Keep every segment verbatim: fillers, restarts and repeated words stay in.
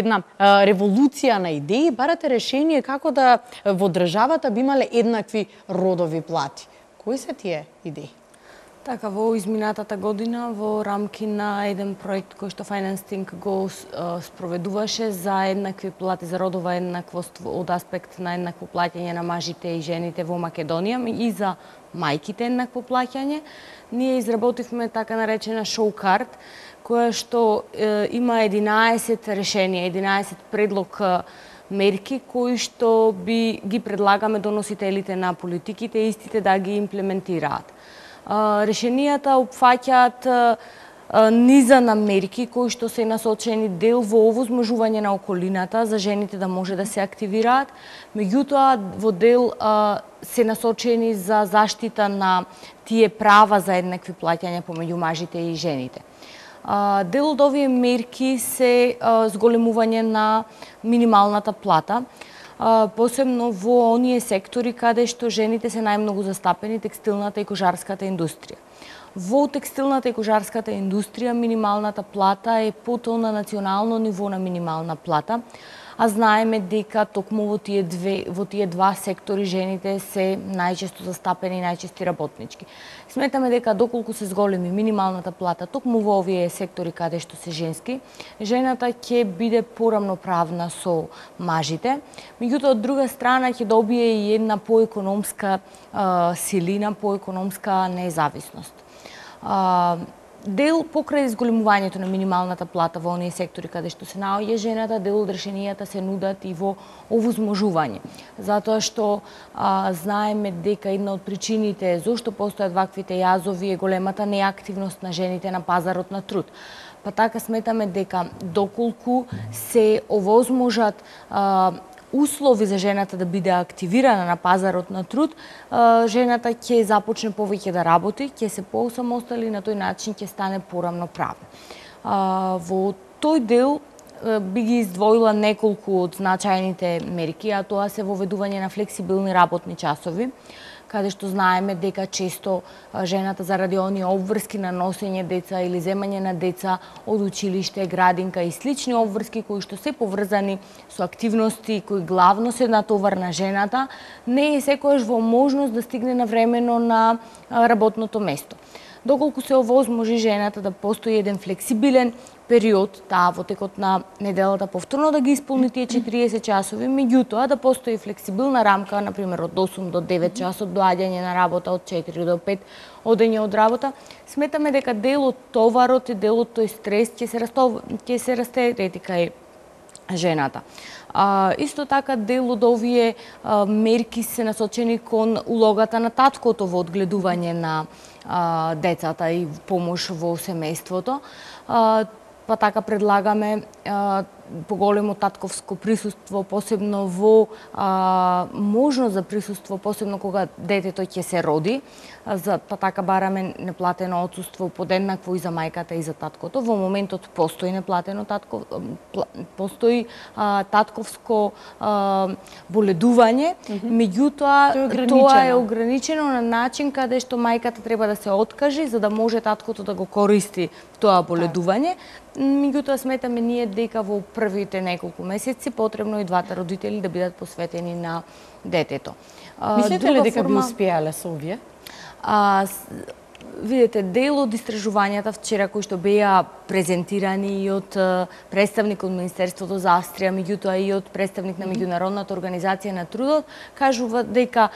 една а, револуција на идеи, барате решение како да во државата би имале еднакви родови плати. Кои се тие идеи? Така, во изминатата година, во рамки на еден проект кој што Financing го спроведуваше за еднакви плати, за родова еднаквост од аспект на еднакво плаќање на мажите и жените во Македонија и за мајките еднакво плаќање, ние изработивме така наречена шоу-карт, која што е, има единаесет решенија, единаесет предлог мерки кои што би ги предлагаме доносителите на политиките, истите да ги имплементираат. Решенијата опфаќаат низа на мерки кои што се насочени дел во овозможување на околината за жените да може да се активираат, меѓутоа во дел се насочени за заштита на тие права за еднакви плаќања помеѓу мажите и жените. Дел од овие мерки се зголемување на минималната плата, посебно во оние сектори каде што жените се најмногу застапени, текстилната и кожарската индустрија. Во текстилната и кожарската индустрија минималната плата е потол на национално ниво на минимална плата, а знаеме дека токму во тие две во тие два сектори жените се најчесто застапени и најчести работнички. Сметаме дека доколку се зголеми минималната плата токму во овие сектори каде што се женски, жената ќе биде порамноправна со мажите, меѓутоа од друга страна ќе добие и една поекономска силина, поекономска независност. Дел покрај зголемувањето на минималната плата во оние сектори каде што се наоѓа жената, дел од решенијата се нудат и во овозможување. Затоа што а, знаеме дека една од причините зошто постојат ваквите јазови е големата неактивност на жените на пазарот на труд. Па така сметаме дека доколку се овозможат а, услови за жената да биде активирана на пазарот на труд, жената ќе започне повеќе да работи, ќе се посамостали и на тој начин ќе стане порамноправна. Во тој дел би ги издвоила неколку од значајните мерки, а тоа се воведување на флексибилни работни часови, каде што знаеме дека често жената заради оние обврски на носење деца или земање на деца од училиште, градинка и слични обврски кои што се поврзани со активности кои главно се натовар на жената, не е секојаш во можност да стигне навремено на работното место. Доколку се овозможи жената да постои еден флексибилен период, таа во текот на неделата повторно да ги исполни тие четириесет часови, меѓутоа да постои флексибилна рамка, например од осум до девет часот доаѓање на работа, од четири до пет одење од работа, сметаме дека дел од товарот и дел од тој стрес ќе се растов... ќе се растерети кај жената. А, исто така дел од овие а, мерки се насочени кон улогата на таткото во одгледување на а, децата и помош во семејството. А, па така предлагаме а, поголемо татковско присуство, посебно во а, можност за присуство, посебно кога детето ќе се роди, а, за, па така бараме неплатено отсуство подеднакво и за мајката и за таткото. Во моментот постои неплатено татко, постои а, татковско а, боледување, mm-hmm. меѓутоа тоа е ограничено на начин каде што мајката треба да се откажи за да може таткото да го користи тоа боледување. Меѓутоа сметаме ние дека во првите неколку месеци потребно и двата родители да бидат посветени на детето. Мислите ли дека би успеале со овие? А, видете, дел од истражувањата вчера кои што беа презентирани и од представник од Министерството за Австрија, меѓутоа и од представник на Меѓународната организација на трудот, кажува дека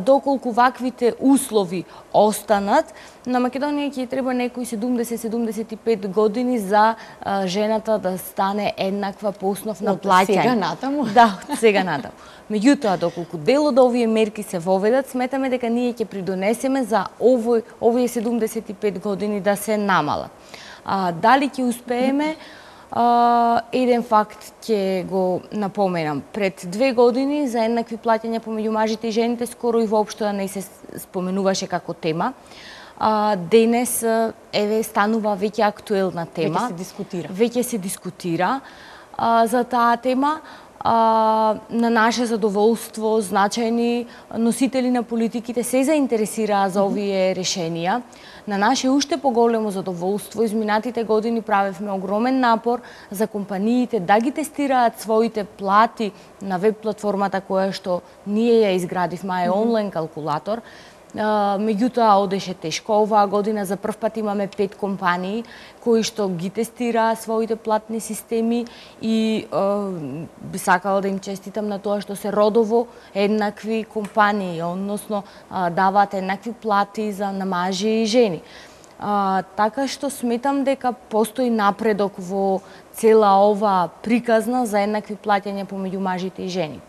доколку ваквите услови останат, на Македонија ќе треба некои седумдесет до седумдесет и пет години за а, жената да стане еднаква по основ на плаќање. Од сега натаму? Да, од сега натаму. Меѓутоа, доколку дел од овие мерки се воведат, сметаме дека ние ќе придонесеме за овој, овие седумдесет и пет години да се намалат. А, дали ќе успееме? А, еден факт ќе го напоменам. Пред две години за еднакви плаќања помеѓу мажите и жените скоро и воопшто не се споменуваше како тема. А, денес еве станува веќе актуелна тема. Веќе се дискутира. Веќе се дискутира а, за таа тема. а, на наше задоволство, значајни носители на политиките се заинтересираа за овие решенија. На наше уште поголемо задоволство, изминатите години правевме огромен напор за компаниите да ги тестираат своите плати на веб платформата која што ние ја изградивме, е онлайн калкулатор. Uh, меѓутоа одеше тешко. Оваа година за прв пат имаме пет компании кои што ги тестираа своите платни системи и uh, би сакала да им честитам на тоа што се родово еднакви компании, односно uh, даваат еднакви плати за на мажи и жени. Uh, така што сметам дека постои напредок во цела ова приказна за еднакви плаќања помеѓу мажите и жените.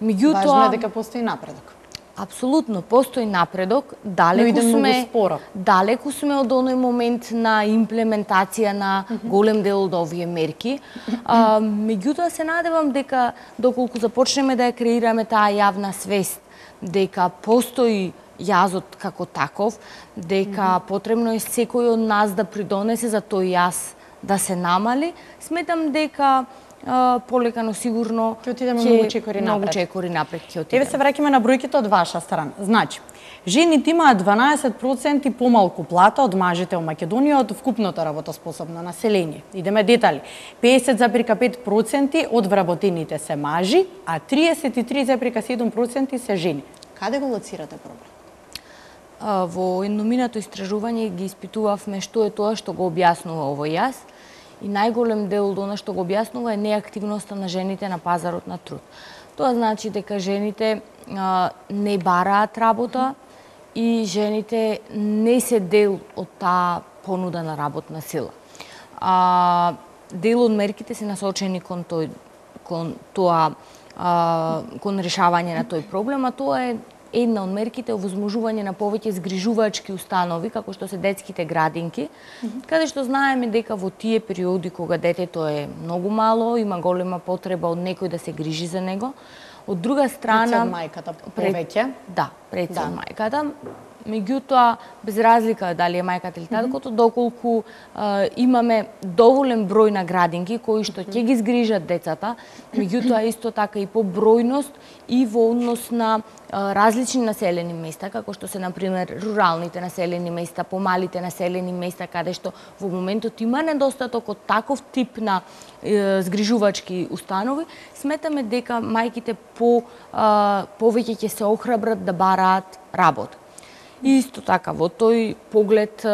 Меѓутоа, важно е дека постои напредок. Апсолутно, постои напредок, далеку сме, далеку сме од оној момент на имплементација на голем дел од овие мерки. А, меѓутоа се надевам дека доколку започнеме да ја креираме таа јавна свест, дека постои јазот како таков, дека потребно е секој од нас да придонесе за тој јаз да се намали, сметам дека Uh, полека, но сигурно ќе отидеме многу чекори напред. Многу чекори напред ќе отидеме. Еве се враќаме на бројките од ваша страна. Значи, жените имаат дванаесет проценти помалку плата од мажите во Македонија од вкупното работоспособно население. Идеме детали. песет зарез пет проценти од вработените се мажи, а триесет и три зарез седум проценти се жени. Каде го лоцирате проблем? Uh, во едноминато истражување ги испитувавме што е тоа што го објаснува овој јаз. И најголем дел од она што го објаснува е неактивноста на жените на пазарот на труд. Тоа значи дека жените а, не бараат работа и жените не се дел од таа понуда на работна сила. А, дел од мерките се насочени кон тој кон тоа а, кон решавање на тој проблем, а тоа е една од мерките овозможување на повеќе згрижувачки установи, како што се детските градинки, mm -hmm. каде што знаеме дека во тие периоди кога детето е многу мало, има голема потреба од некој да се грижи за него. Од друга страна, пред мајката повеќе. Да, пред да. мајката. Меѓутоа, без разлика дали е мајката или таткото, mm -hmm. доколку а, имаме доволен број на градинки кои што ќе ги згрижат децата, меѓутоа исто така и по бројност и во однос на а, различни населени места, како што се, например, руралните населени места, помалите населени места, каде што во моментот има недостаток од таков тип на е, згрижувачки установи, сметаме дека мајките по, а, повеќе ќе се охрабрат да бараат работа. И исто така, во тој поглед,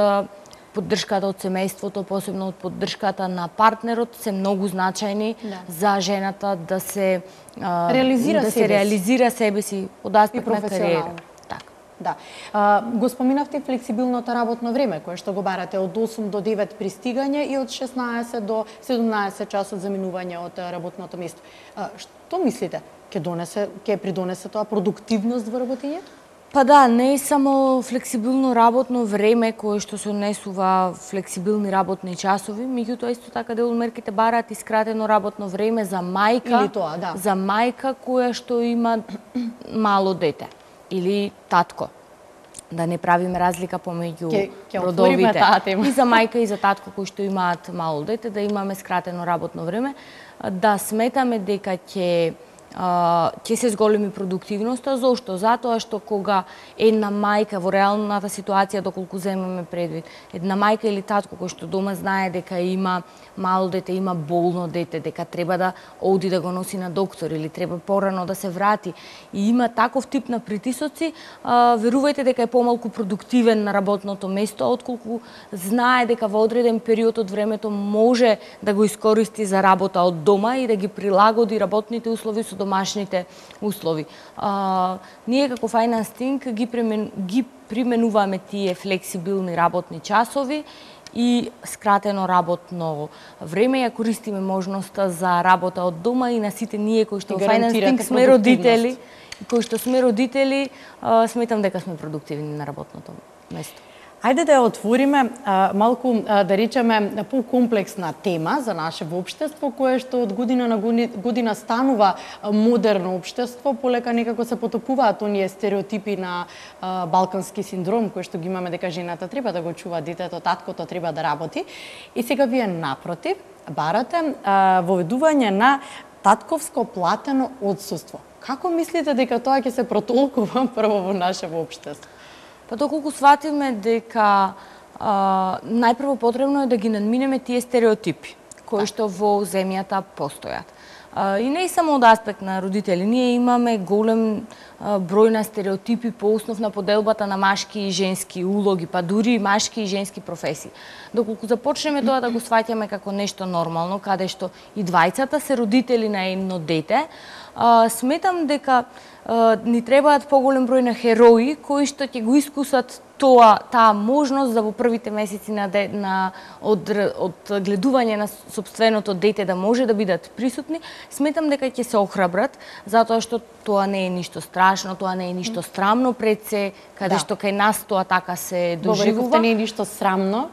поддршката од семејството, посебно од поддршката на партнерот, се многу значајни да. за жената да се реализира, да себе, се реализира себе си од аспект на кариера. Така. Да. А, го споминавте флексибилното работно време, кое што го барате од осум до девет пристигање и од шеснаесет до седумнаесет часот заминување од работното место. А, што мислите? Ке донесе, ке придонесе тоа продуктивност во работењето? Па да, не е само флексибилно работно време кое што се однесува флексибилни работни часови, меѓутоа исто така дел од мерките бараат и скратено работно време за мајка, или тоа, да. за мајка која што има мало дете или татко. Да не правиме разлика помеѓу ке, ке родовите. И за мајка и за татко кои што имаат мало дете, да имаме скратено работно време, да сметаме дека ќе ќе се зголеми продуктивноста. Зошто? Затоа што кога една мајка во реалната ситуација, доколку земеме предвид, една мајка или татко кој што дома знае дека има мало дете, има болно дете, дека треба да оди да го носи на доктор или треба порано да се врати и има таков тип на притисоци, а, верувајте дека е помалку продуктивен на работното место, отколку знае дека во одреден период од времето може да го искористи за работа од дома и да ги прилагоди работните услови со домашните услови. А, ние како Finance Think ги, премен, ги применуваме тие флексибилни работни часови и скратено работно време, ја користиме можноста за работа од дома и на сите ние кои што Finance Think сме родители, кои што сме родители, а, сметам дека сме продуктивни на работното место. Ајде да ја отвориме а, малку, а, да речеме, покомплексна тема за наше општество, кое што од година на година станува модерно општество, полека некако се потопуваат оние стереотипи на а, балкански синдром, кој што ги имаме дека жената треба да го чува детето, таткото треба да работи. И сега вие напротив барате а, воведување на татковско платено отсуство. Како мислите дека тоа ќе се протолкува прво во нашето општество? Па доколку сватиме дека а, најпрво потребно е да ги надминеме тие стереотипи кои што во земјата постојат. А, и не само од аспект на родители, ние имаме голем а, број на стереотипи по основ на поделбата на машки и женски улоги, па дури и машки и женски професии. Доколку започнеме тоа да го сваќаме како нешто нормално, каде што и двајцата се родители на едно дете, а, сметам дека а, ни требаат поголем број на херои кои што ќе го искусат тоа, таа можност да во првите месеци на, де, на од, од гледување на собственото дете да може да бидат присутни, сметам дека ќе се охрабрат, затоа што тоа не е ништо страшно, тоа не е ништо срамно пред се, каде да. Што кај нас тоа така се доживува. Говорите, не е ништо срамно,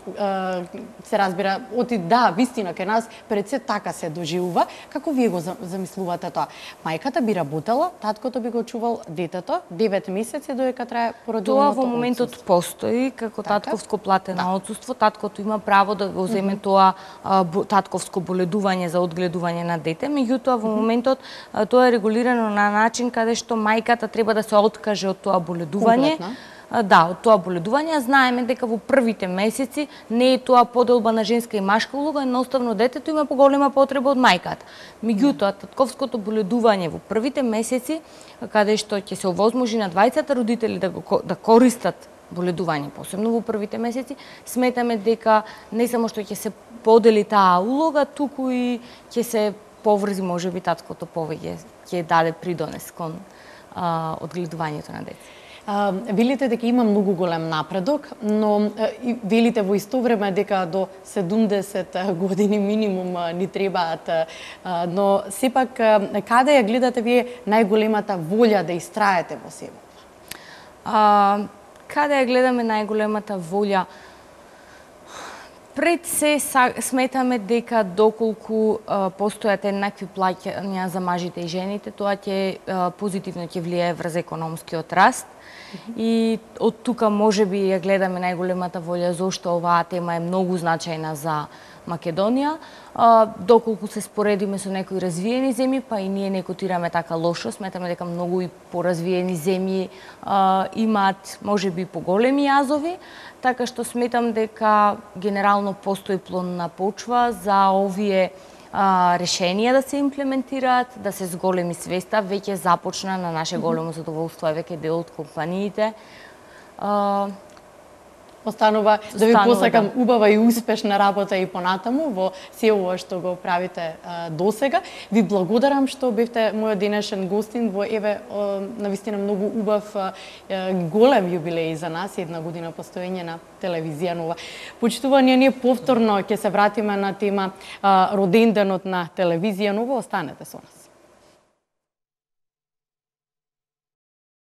се разбира, оти да, вистина кај нас пред се така се доживува. Како вие го замислувате тоа? Мајката би работела, таткото би го чувал детето, девет месеци додека трае породилното. Тоа во моментот постои како така? Татковско платено да. Отсуство, таткото има право да го земе mm -hmm. тоа а, бо, татковско боледување за одгледување на дете, меѓутоа во моментот а, тоа е регулирано на начин каде што мајката треба да се откаже од тоа боледување. Комплетно. Да, од тоа боледување. Знаеме дека во првите месеци не е тоа поделба на женска и машка улога, едноставно детето има поголема потреба од мајката. Меѓутоа, татковското боледување во првите месеци, каде што ќе се овозможи на двајцата родители да го да користат боледување, посебно во првите месеци, сметаме дека не само што ќе се подели таа улога, туку и ќе се поврзи можеби таткото повеќе, ќе даде придонес кон а, одгледувањето на дете. А, велите дека има многу голем напредок, но и велите во исто време дека до седумдесет години минимум ни требаат, а, но сепак каде ја гледате вие најголемата волја да истраете во себе? А, каде ја гледаме најголемата волја? Пред се сметаме дека доколку а, постојат еднакви плаќања за мажите и жените, тоа ќе а, позитивно ќе влијае врз економскиот раст. Mm -hmm. И од тука можеби ја гледаме најголемата волја зошто оваа тема е многу значајна за Македонија. А, доколку се споредиме со некои развиени земји, па и ние не котираме така лошо, сметаме дека многу и поразвиени земји а, имаат можеби поголеми јазови, така што сметам дека генерално постои плодна почва за овие а, решенија да се имплементираат, да се зголеми свеста, веќе започна на наше големо задоволство, е веќе дел од компаниите. А, Останува да ви посакам да. убава и успешна работа и понатаму во се ова што го правите а, досега. Ви благодарам што бевте мојот денешен гостин во еве навистина многу убав а, голем јубилеј за нас, една година постоење на телевизија нова. Почитувани, ние повторно ќе се вратиме на тема а, роденденот на телевизија нова. Останете со нас.